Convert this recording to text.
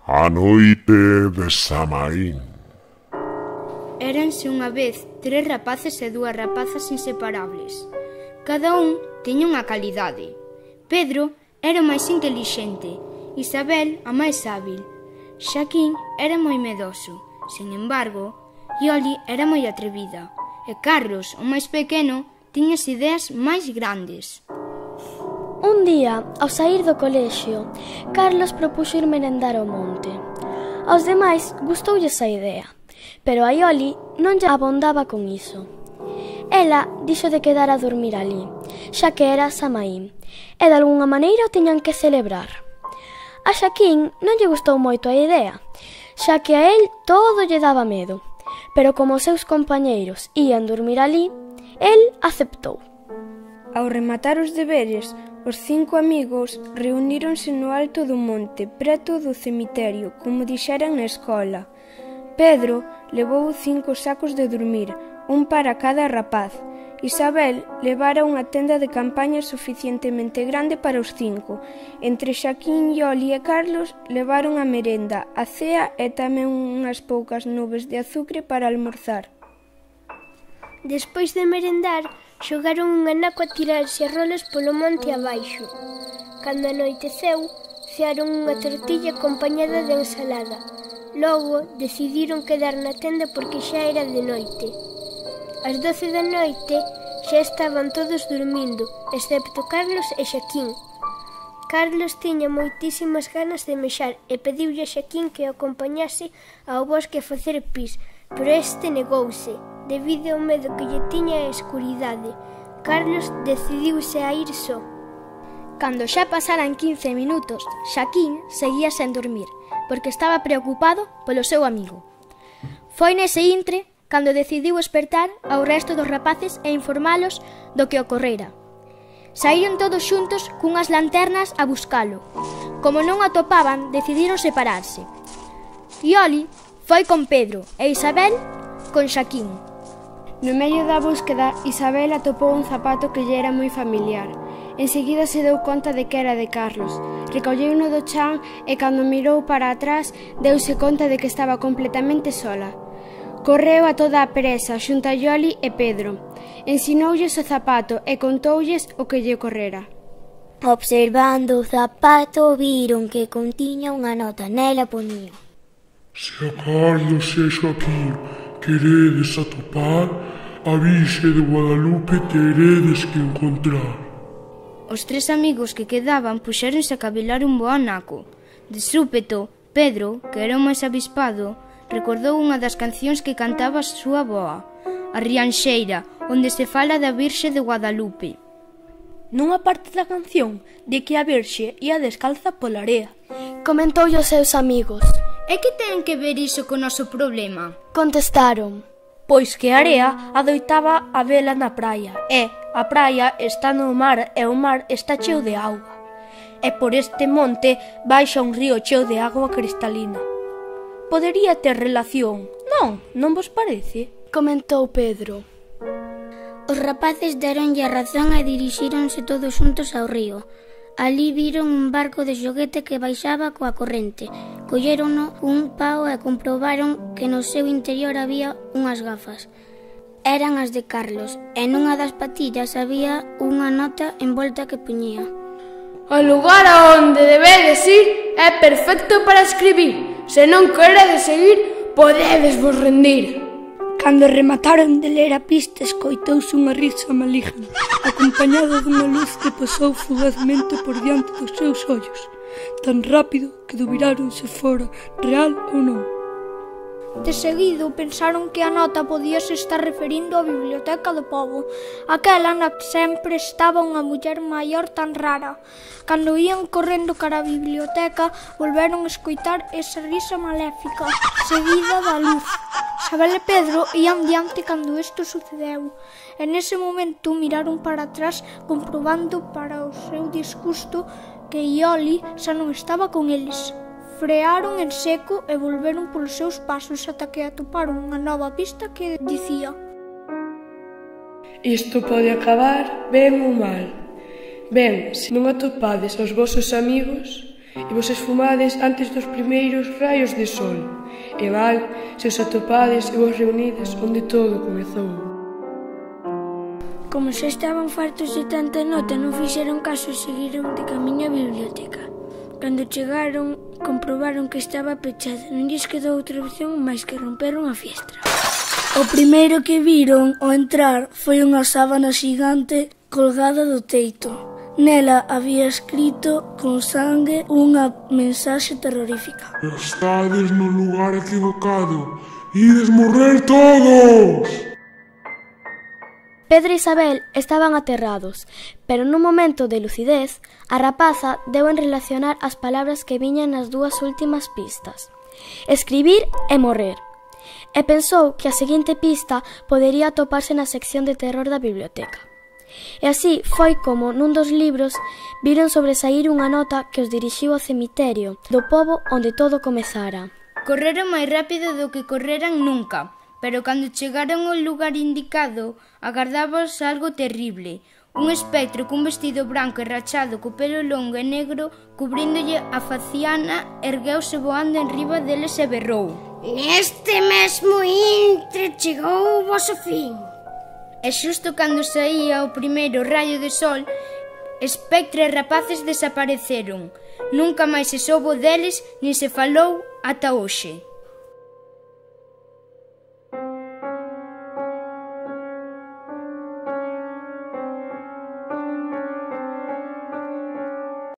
A noite de Samaín. Éranse unha vez 3 rapaces e 2 rapazas inseparables. Cada un tiña unha calidade. Pedro era o máis intelixente, Isabel a máis hábil, Xaquín era moi medoso. Sin embargo, Ioli era moi atrevida e Carlos, o máis pequeno, tiña as ideas máis grandes. Un día, ao saír do colexio, Carlos propuxo ir merendar ao monte. Aos demais gustoulles a idea, pero a Ioli non lle abondaba con iso. Ela dixo de quedar a dormir ali, xa que era Samaín, e de algunha maneira o tiñan que celebrar. A Xaquín non lle gustou moito a idea, xa que a el todo lle daba medo, pero como os seus compañeiros ían dormir ali, el aceptou. Ao rematar os deberes, os 5 amigos reuníronse no alto do monte, preto do cemiterio, como dixeran na escola. Pedro levou 5 sacos de dormir, un para cada rapaz. Isabel levara unha tenda de campaña suficientemente grande para os 5. Entre Xaquín, Ioli e Carlos levaron a merenda, a cea e tamén unhas poucas nubes de azucre para almorzar. Despois de merendar, xogaron un anaco a tirarse a rolas polo monte abaixo. Cando anoiteceu, cearon unha tortilla acompañada de ensalada. Logo, decidiron quedar na tenda porque xa era de noite. Ás 12 da noite xa estaban todos dormindo, excepto Carlos e Xaquín. Carlos tiña moitísimas ganas de mexar e pediulle a Xaquín que o acompañase ao bosque a facer pis, pero este negouse. Debido ao medo que lle tiña a escuridade, Carlos decidiuse a ir só. Cando xa pasaran 15 minutos, Xaquín seguía sen dormir, porque estaba preocupado polo seu amigo. Foi nese intre cando decidiu espertar ao resto dos rapaces e informalos do que ocorrera. Saíron todos xuntos cunhas lanternas a buscalo. Como non o atopaban, decidiron separarse. Ioli foi con Pedro e Isabel con Xaquín. No medio da búsqueda, Isabel atopou un zapato que lle era moi familiar. Enseguida se deu conta de que era de Carlos. Recolleuno do chan e cando mirou para atrás, deuse conta de que estaba completamente sola. Correu a toda a presa xunto a Ioli e Pedro. Ensinoulles o zapato e contoulles o que lle ocorrera. Observando o zapato, viron que contiña unha nota. Nela ponía: Se a Carlos e Xaquín queredes atopar, a Virxe de Guadalupe teredes que encontrar. Os 3 amigos que quedaban puxéronse a cavilar un bo anaco. De súpeto, Pedro, que era o máis avispado, recordou unha das cancións que cantaba a súa avoa, a Rianxeira, onde se fala da Virxe de Guadalupe. Nunha parte da canción, de que a Virxe ia descalza pola area. Comentoulle aos seus amigos. E que ten que ver iso co noso problema? Contestaron: Pois que a area adoitaba a vela na praia, e a praia está no mar e o mar está cheo de auga. E por este monte baixa un río cheo de agua cristalina. Podería ter relación, non vos parece? Comentou Pedro. Os rapaces deronlle a razón e dirixíronse todos xuntos ao río. Ali viron un barco de xoguete que baixaba coa corrente. Collérono un pau e comprobaron que no seu interior había unhas gafas. Eran as de Carlos, e nunha das patillas había unha nota envolta que puñía: O lugar a onde debedes ir é perfecto para escribir. Se non queredes seguir, podedes vos rendir. Cando remataron de ler a pista, escoitouse unha risa maligna, acompañada dunha luz que pasou fugazmente por diante dos seus ollos, tan rápido que dubiraron se fora real ou non. De seguido pensaron que a nota podíase estar referindo á biblioteca do pobo, aquela na que sempre estaba unha muller maior tan rara. Cando ían correndo cara á biblioteca, volveron a escoitar esa risa maléfica, seguida da luz. Isabel e Pedro ían diante cando isto sucedeu, e nese momento miraron para atrás comprobando para o seu disgusto que Ioli xa non estaba con eles. Frearon en seco e volveron polos seus pasos ata que atoparon unha nova pista que dicía: Isto pode acabar ben ou mal. Ben, se non atopades aos vosos amigos, e vos esfumades antes dos primeiros raios de sol, e mal se os atopades e vos reunides onde todo comezou. Como xa estaban fartos de tanta nota, non fixeron caso e seguiron de camiño á biblioteca. Cando chegaron, comprobaron que estaba pechada. Non lles quedou outra opción máis que romperon a fiestra. O primeiro que viron ao entrar foi unha sábana xigante colgada do teito. Nela había escrito con sangue unha mensaxe terrorífica. Estades no lugar equivocado. Ides morrer todos! Pedro e Isabel estaban aterrados, pero nun momento de lucidez, a rapaza deu en relacionar as palabras que viñan nas dúas últimas pistas: escribir e morrer. E pensou que a seguinte pista podería atoparse na sección de terror da biblioteca. E así foi como, nun dos libros, viron sobresaír unha nota que os dirixiu ao cemiterio do pobo onde todo comezara. Correron máis rápido do que correran nunca, pero cando chegaron ao lugar indicado, agardábos algo terrible. Un espectro cun vestido branco e rachado co pelo longo e negro cubríndolle a faciana ergueuse voando enriba deles e berrou: Neste mesmo intre chegou o voso fin. E xusto cando saía o primeiro raio de sol, espectro e rapaces desapareceron. Nunca máis se soubo deles nin se falou ata hoxe.